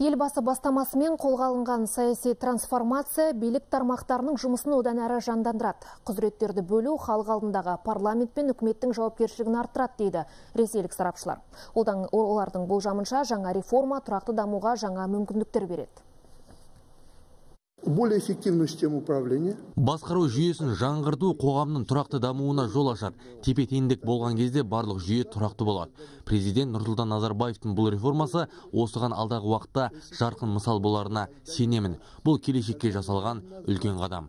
Елбасы бастамасымен қолға алынған саяси трансформация билік тармақтарының жұмысын одан әрі жандандырады. Құзыреттерді бөлу халық алдындағы парламент пен үкіметтің жауапкершілігін арттырады дейді ресейлік сарапшылар. Олардың болжамынша жаңа реформа тұрақты дамуға жаңа мүмкіндіктер береді. Более эффективную систему управления. Басқару жүйесін жаңғырту қоғамның тұрақты дамуына жол ашады. Тепе-теңдік болған кезде барлық жүйе тұрақты болады. Президент Нұрсұлтан Назарбаевтың бұл реформасы осыған алдағы уақытта жарқын мысал боларына сенемін. Бұл келешекке жасалған үлкен қадам.